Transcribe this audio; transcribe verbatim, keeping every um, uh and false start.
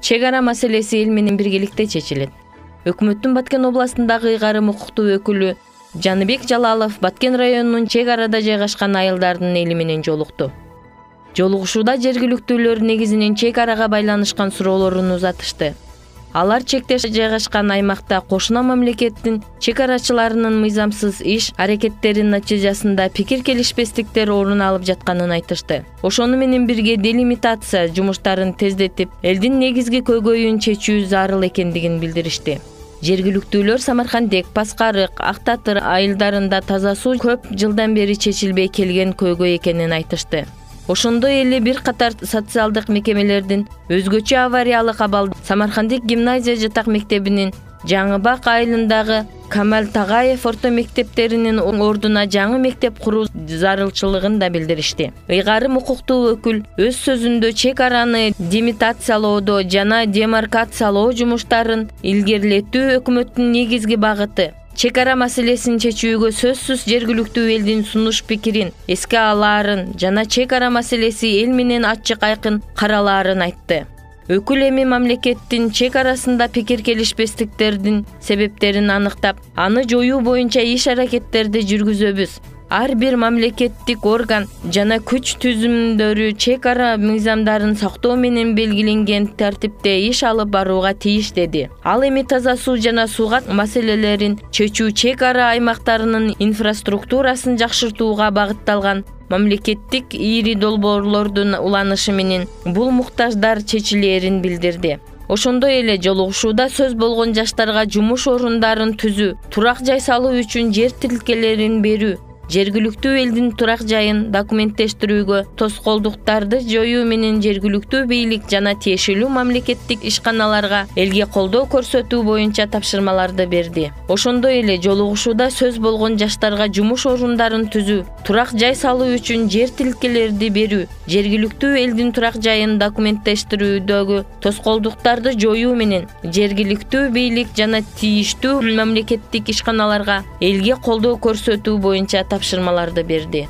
чек ара маселеси эл менен биргеликте чечилет. Өкмөттүн Баткен областындагы ыйгарым укуктуу өкүлү Жаныбек Жалалов Баткен районунун чек арада жайгашкан айылдардын эли менен жолукту. Жолугушууда жергиликтүүлөр негизинен чек арага байланышкан суроолорун узатышты. Алар чекте жайгашкан аймакта кошуна мамлекеттин чек арачыларынын мыйзамсыз иш аракеттеринин натыйжасында пикир келишпестиктер орун алып жатканын айтышты. Ошону менен бирге делимитация жумуштарын тездетип, элдин негизги көйгөйүн чечүү зарыл экендигин билдиришти. Жергиликтүүлөр Самаркандек, Паскарык, Актатыр айылдарында таза суу көп жылдан бери чечилбей келген көйгөй экенин айтышты. Ошондой эле бир катар социалдык мекемелердин өзгөчө авариялык абалда Самаркандек гимназия жатак мектебинин Жаңыбак айылындагы Камал Тагаев орто мектептеринин ордуна жаңы мектеп куруу зарылчылыгын да билдиришти. Ыйгарым укуктуу өкүл өз сөзүндө чек араны демитациялоодо жана демаркациялоо жумуштарын илгерилетүү өкмөттүн негизги багыты. Чек ара маселесин чечүүгө сөзсүз жергиликтүү элдин сунуш пикирин эске алаарын жана чек ара маселеси эл менен ачык айкын каралаарын айтты. Өкүл эми мамлекеттин чек арасында пикир келишпестиктердин себептерин аныктап, аны жоюу боюнча иш аракеттерди жүргүзөбүз. Ар бир мамлекеттик орган жана күч түзүмдөрү чек ара мыйзамдарын сактоо менен белгиленген тартипте иш алып барууга тийиш деди. Ал эми таза суу жана сууга маселелерин чечүү чек ара аймактарынын инфраструктурасын жакшыртууга багытталган мамлекеттик ири долбоорлордун уланышы менен бул муктаждар чечилээрин билдирди. Ошондой эле жолугушууда сөз болгон жаштарга жумуш орундарын түзүү, турак жай салуу үчүн жер тилкелерин берүү, жергиликтүү элдин турак жайын документтештирүүгө тоскоолдуктарды жоюу менен жергиликтүү бийлик жана тиешелүү мамлекеттик ишканаларга элге колдоо көрсөтүү боюнча тапшырмаларды берди. Ошондой эле жолугушууда сөз болгон жаштарга жумуш орундарын түзүү, турак жай салуу үчүн жер тилкелерди берүү, жергиликтүү элдин турак жайын документтештирүүдөгү тоскоолдуктарды жоюу менен жергиликтүү бийлик жана тийиштүү мамлекеттик ишканаларга элге колдоо көрсөтүү боюнча тапшырмаларды берди.